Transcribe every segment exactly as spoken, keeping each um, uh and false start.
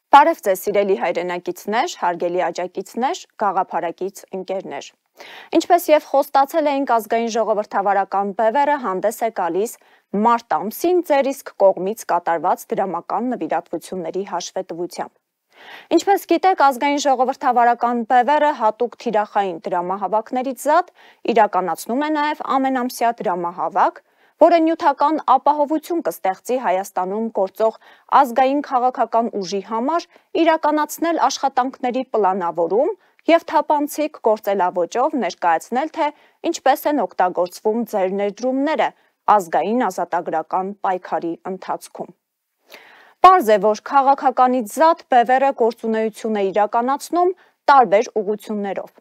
Բարև ձեզ սիրելի հայրենակիցներ, հարգելի աջակիցներ, գաղափարակից ընկերներ։ Ինչպես եւ խոստացել էինք, ազգային ժողովրդավարական բևեռը հանդես է գալիս մարտ ամսին ձեր իսկ կողմից կատարված դրամական նվիրատվությունների հաշվետվությամբ։ Ինչպես գիտեք, ազգային ժողովրդավարական բևեռը հատուկ թիրախային դրամահավաքներից զատ իրականացնում է նաեւ ամենամսյա դրամահավաք, որը նյութական ապահովություն կստեղծի Հայաստանում գործող ազգային քաղաքական ուժի համար իրականացնել աշխատանքների պլանավորում եւ թափանցիկ գործելավոճով ներկայացնել, թե ինչպես են օգտագործվում ձեր ներդրումները ազգային ազատագրական պայքարի ընթացքում։ Պարզ է, որ քաղաքականից զատ բևեռը գործունեություն է իրականացնում տարբեր ուղղություններով։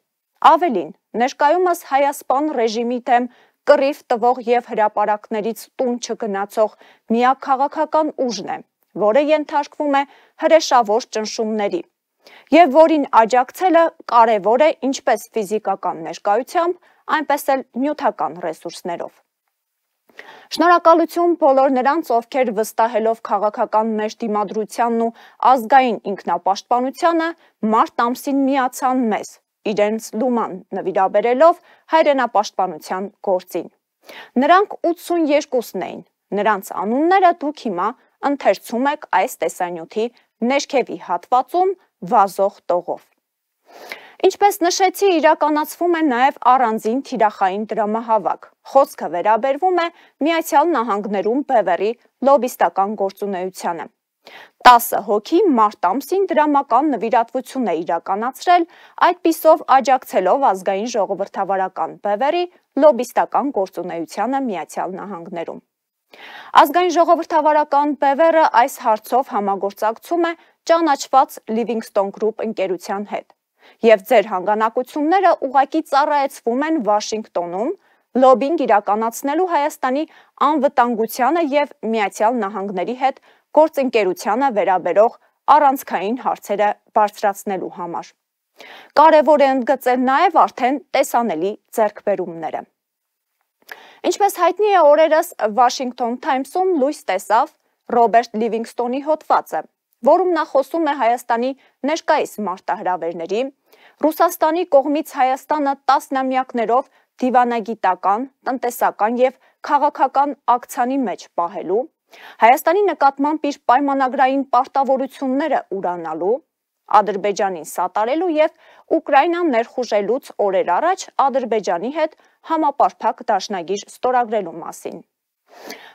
Ավելին, ներկայումս հայասպան ռեժիմի դեմ կռիվ տվող եւ հրապարակներից տուն չգնացող միակ քաղաքական ուժն է, որը ենթարկվում է հրեշավոր ճնշումների, եւ որին աջակցելը կարեւոր է ինչպես ֆիզիկական ներկայությամբ, այնպես էլ նյութական ռեսուրսներով։ Շնորհակալություն բոլոր նրանց, ովքեր վստահելով քաղաքական մեր դիմադրությանն ու ազգային ինքնապաշտպանությանը մարտ ամսին միացան մեզ, իրենց լուման նվիրաբերելով հայրենապաշտպանության գործին։ Նրանք ութսունյոթն էին, նրանց անունները դուք հիմա ընթերցում եք այս տեսանյութի ներքևի հատվածում վազող տողով։ Ինչպես նշեցի, իրականացվում է նաև առանձին թիրախային դրամահավաք։ Խոսքը վերաբերվում է Միացյալ Նահանգներում բևեռի լոբիստական գործունեությանը։ տասը հոգի մարտ ամսին դրամական նվիրատվություն է իրականացրել, այդպիսով աջակցելով ազգային ժողովրդավարական բևեռի լոբիստական գործունեությանը Միացյալ Նահանգներում։ Ազգային ժողովրդավարական բևեռը այս հարցով համագործակցում է ճանաչված Livingstone Group ընկերության հետ, եւ ձեր հանգանակությունները ուղղակի ծառայեցվում են Վաշինգտոնում լոբինգ իրականացնելու Հայաստանի անվտանգությանը եւ Միացյալ Նահանգների հետ գործընկերությանը վերաբերող առանցքային հարցերը բարձրացնելու համար։ Կարևոր է ընդգծել նաև արդեն տեսանելի ձեռքբերումները։ Ինչպես հայտնի է, օրերս Washington Times-ում լույս տեսավ Ռոբերտ Լիվինգստոնի հոդվածը, որում նա խոսում է Հայաստանի ներկայիս մարտահրավերների, Ռուսաստանի կողմից Հայաստանը տասնամյակներով դիվանագիտական, տնտեսական եւ քաղաքական ակցիայի մեջ պահելու, Հայաստանի նկատմամբ իր պայմանագրային պարտավորությունները ուրանալու, Ադրբեջանին սատարելու եւ Ուկրաինան ներխուժելուց օրեր առաջ Ադրբեջանի հետ համապարփակ դաշնագիր ստորագրելու մասին։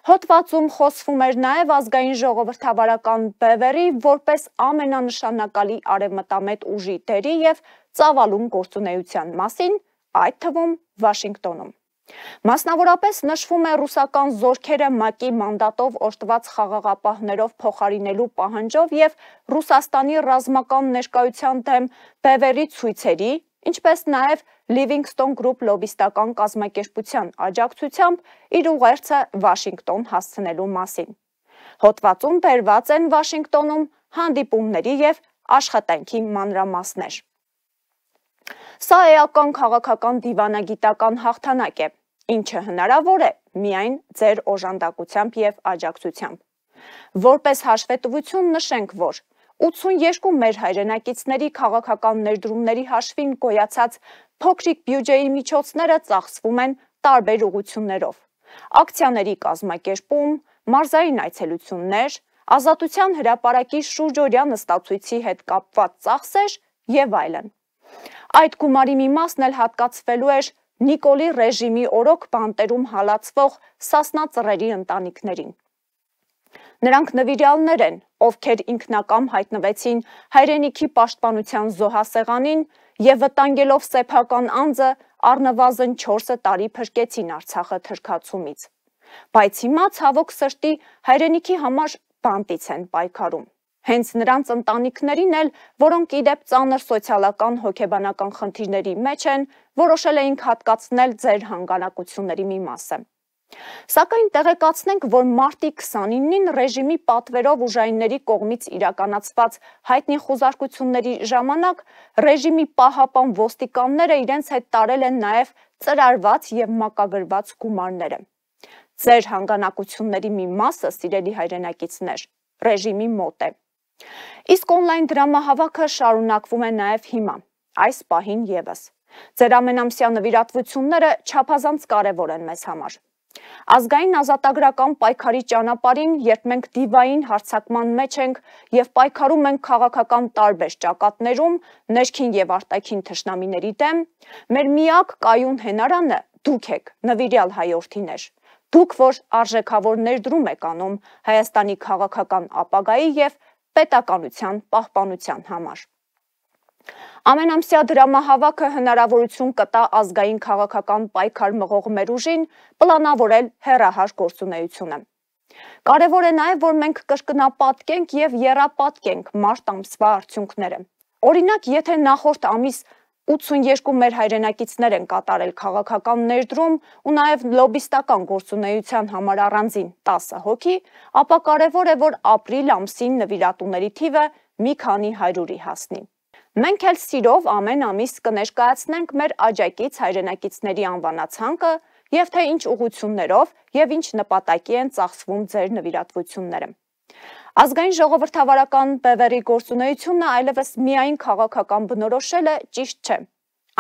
Հոդվածում խոսվում էր նաեւ ազգային ժողովրդավարական բևեռի որպես ամենանշանակալի արևմտամետ ուժի դերի եւ ծավալուն գործունեության մասին, այդ թվում Վաշինգտոնում։ Մասնավորապես նշվում է ռուսական զորքերը ՄԱԿ-ի մանդատով օրդված խաղաղապահներով փոխարինելու պահանջով եւ Ռուսաստանի ռազմական ներկայության դեմ բևեռի ցույցերի, ինչպես նաեւ Livingstone Group լոբիստական կազմակերպության աջակցությամբ իր ուղերձը Վաշինգտոն հասցնելու մասին։ Հոդվածում բերված են Վաշինգտոնում հանդիպումների եւ աշխատանքի մանրամասներ։ Սա էական քաղաքական դիվանագիտական հաղթանակ է, ինչը հնարավոր է միայն ձեր օժանդակությամբ եւ աջակցությամբ։ Որպես հաշվետվություն նշենք, որ ութսունյոթ մեր հայրենակիցների քաղաքական ներդրումների հաշվին գոյացած փոքրիկ բյուջեի միջոցները ծախսվում են տարբեր ուղղություններով՝ ակցիաների կազմակերպում, մարզային այցելություններ, Ազատության հրապարակի շուրջօրյա նստացույցի հետ կապված ծախսեր եւ այլն։ Այդ գումարի մի մասն էլ հատկացվելու էր Նիկոլի ռեժիմի օրոք բանտերում հալածվող Սասնա ծռերի ընտանիքներին։ Նրանք նվիրյալներ են, ովքեր ինքնակամ հայտնվեցին հայրենիքի պաշտպանության զոհասեղանին եւ վտանգելով սեփական անձը առնվազն չորս տարի փրկեցին Արցախը թրքացումից։ Բայց հիմա ցավոք սրտի հայրենիքի համար բանտից են պայքարում։ Հենց նրանց ընտանիքներին էլ, որոնք իդեպ ծանր սոցիալական հոգեբանական խնդիրների մեջ են, որոշել էինք հատկացնել ձեր հանգանակությունների մի մասը։ Սակայն տեղեկացնենք, որ մարտի քսանինին ռեժիմի պատվերով ուժայինների կողմից իրականացված հայտնի խուզարկությունների ժամանակ ռեժիմի պահապան ոստիկանները իրենց հետ տարել են նաև ծրարված եւ մակագրված գումարները։ Ձեր հանգանակությունների մի մասը, սիրելի հայրենակիցներ, ռեժիմի մոտ է։ Իսկ on-line դրամահավաքը շարունակվում է նաև հիմա, այս պահին ևս։ Ձեր ամենամսյա նվիրատվությունները չափազանց կարևոր են մեզ համար։ Ազգային ազատագրական պայքարի ճանապարհին, երբ մենք դիվային հարձակման մեջ ենք եւ պայքարում ենք քաղաքական տարբեր ճակատներում, ներքին եւ արտաքին թշնամիների դեմ, մեր միակ կայուն հենարանը դուք եք, նվիրյալ հայորդիներ։ Դուք, որ արժեքավոր ներդրում եք անում Հայաստանի քաղաքական ապագայի եւ պետականության պահպանության համար։ Ամենամսյա դրամահավաքը հնարավորություն կտա ազգային քաղաքական պայքար մղող մեր ուժին պլանավորել հեռահար գործունեությունը։ Կարևոր է նաև, որ մենք կրկնապատկենք եւ եռապատկենք մարտ ամսվա արդյունքները։ Օրինակ, եթե նախորդ ամիս ութսունեքու մեր հայրենակիցներ են կատարել քաղաքական ներդրում ու նաև լոբիստական գործունեության համար առանձին տասը հոգի, ապա կարևոր է, որ ապրիլ ամսին նվիրատուների թիվը մի քանի հարյուրի հասնի։ Մենք էլ սիրով ամեն ամիս կներկայացնենք մեր աջակից հայրենակիցների անվանացանկը եւ թե ինչ ուղղություններով եւ ինչ նպատակի են ծախսվում ձեր նվիրատվությունները։ Ազգային ժողովրդավարական բևեռի գործունեությունը այլևս միայն քաղաքական բնորոշելը ճիշտ չէ։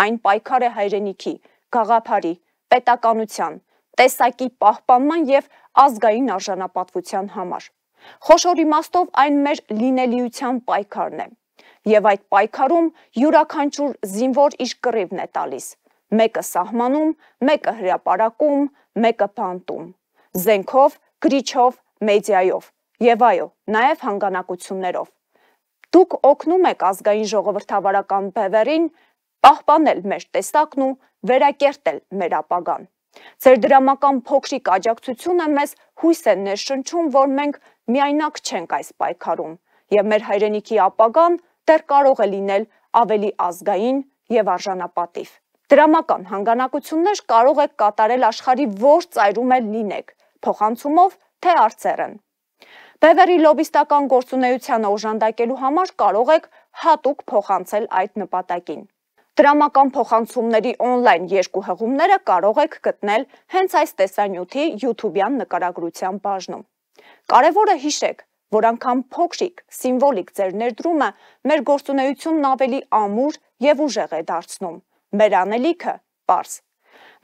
Այն պայքար է հայրենիքի, գաղափարի, պետականության, տեսակի պահպանման եւ ազգային արժանապատվության համար։ Խոշոր իմաստով այն մեր լինելիության պայքարն է։ Եվ այդ պայքարում յուրաքանչյուր զինվոր իր կռիվն է տալիս։ Մեկը սահմանում, մեկը հրապարակում, մեկը բանտում։ Զենքով, գրիչով, մեդիայով եւ այո, նաեւ հանգանակություններով։ Դուք օգնում եք ազգային ժողովրդավարական բևեռին պահպանել մեր տեսակն ու վերակերտել մեր ապագան։ Ձեր դրամական փոքրիկ աջակցությունը մեզ հույս է ներշնչում, որ մենք միայնակ չենք այս պայքարում եւ մեր հայրենիքի ապագան դեռ կարող է լինել ավելի ազգային եւ արժանապատիվ։ Դրամական հանգանակություններ կարող եք կատարել աշխարհի որ ծայրում էլ լինեք, փոխանցումով թե արծերն։ Բևեռի լոբիստական գործունեությանը օժանդակելու համար կարող եք հատուկ փոխանցել այդ նպատակին։ Դրամական փոխանցումների on-line երկու հղումները կարող եք գտնել հենց այս տեսանյութի YouTube-յան նկարագրության բաժնում։ Կարևորը հիշեք, որ անգամ փոքրիկ, սիմվոլիկ ձեր ներդրումը մեր գործունեությունն ավելի ամուր եւ ուժեղ է դարձնում, մեր անելիքը պարզ։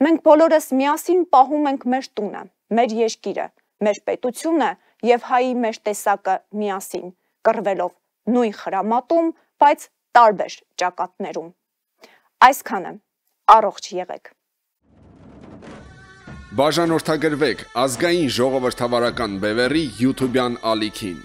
Մենք բոլորս միասին պահում ենք մեր տունը, մեր երկիրը, մեր պետությունը եւ հայի մեր տեսակը միասին, կռվելով նույն խրամատում, բայց տարբեր ճակատներում։ Այսքանը, առողջ եղեք։ Բաժանորդագրվեք ազգային ժողովրդավարական բևեռի YouTube-յան ալիքին։